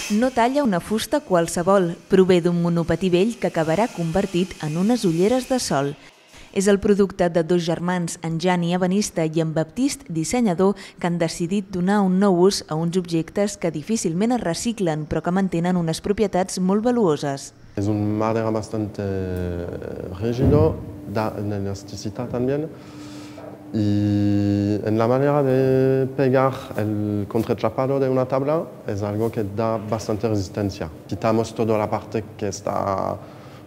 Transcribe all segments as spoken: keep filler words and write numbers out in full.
No talla una fusta qualsevol, prové d'un monopatí vell que acabarà convertit en unes ulleres de sol. És el producte de dos germans, en Jani, ebenista, i en Baptist, dissenyador, que han decidit donar un nou ús a uns objectes que difícilment es reciclen, però que mantenen unes propietats molt valuoses. Es un madera bastante rígido, da elasticidad también, y en la manera de pegar el contrachapado de una tabla es algo que da bastante resistencia. Quitamos toda la parte que está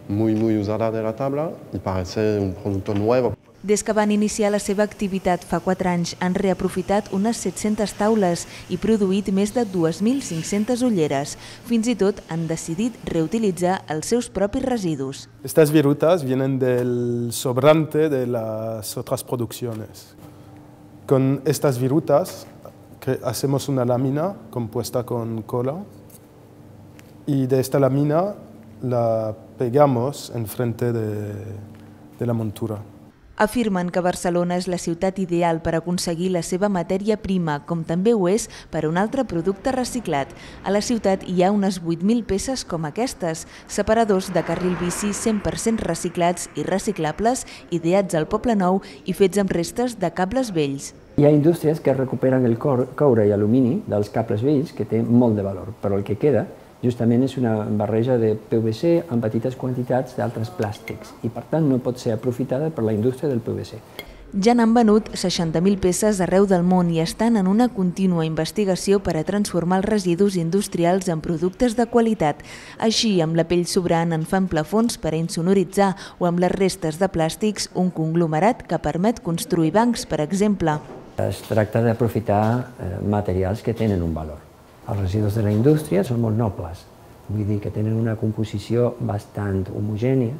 muy, muy usada de la tabla y parece un producto nuevo. Des que van iniciar la seva activitat fa quatre anys, han reaprofitat unes set-centes taules i produït més de dues mil cinc-centes ulleres. Fins i tot han decidit reutilitzar els seus propis residus. Estas virutas vienen del sobrante de las otras producciones. Con estas virutas hacemos una lámina compuesta con cola y de esta lámina la pegamos enfrente de, de la montura. Afirmen que Barcelona és la ciutat ideal per aconseguir la seva matèria prima, com també ho és per a un altre producte reciclat. A la ciutat hi ha unes vuit mil peces com aquestes, separadors de carril bici cent per cent reciclats i reciclables, ideats al Poble Nou i fets amb restes de cables vells. Hi ha indústries que recuperen el coure i alumini dels cables vells, que té molt de valor, però el que queda justament és una barreja de P V C amb petites quantitats d'altres plàstics i, per tant, no pot ser aprofitada per la indústria del P V C. Ja n'han venut seixanta mil peces arreu del món i estan en una contínua investigació per a transformar els residus industrials en productes de qualitat. Així, amb la pell sobrant en fan plafons per a insonoritzar o amb les restes de plàstics un conglomerat que permet construir bancs, per exemple. Es tracta d'aprofitar materials que tenen un valor. Els residus de la indústria són molt nobles, vull dir que tenen una composició bastant homogènia,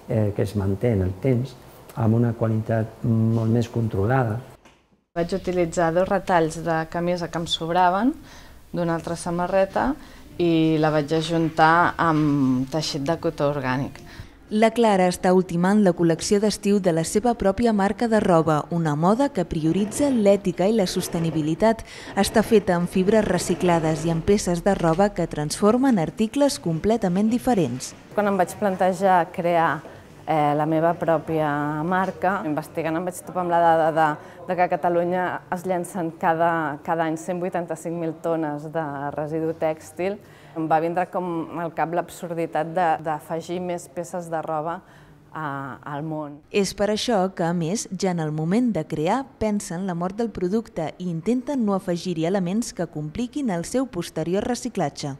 eh, que es manté en el temps, amb una qualitat molt més controlada. Vaig utilitzar dos retalls de camisa que em sobraven d'una altra samarreta i la vaig ajuntar amb teixit de cotó orgànic. La Clara està ultimant la col·lecció d'estiu de la seva pròpia marca de roba, una moda que prioritza l'ètica i la sostenibilitat. Està feta amb fibres reciclades i amb peces de roba que transformen articles completament diferents. Quan em vaig plantejar crear eh, la meva pròpia marca, investigant em vaig topar amb la dada de, de que a Catalunya es llencen cada, cada any cent vuitanta-cinc mil tones de residu tèxtil. Em va vindre com al cap l'absurditat d'afegir més peces de roba al món. És per això que, a més, ja en el moment de crear, pensen la mort del producte i intenten no afegir-hi elements que compliquin el seu posterior reciclatge.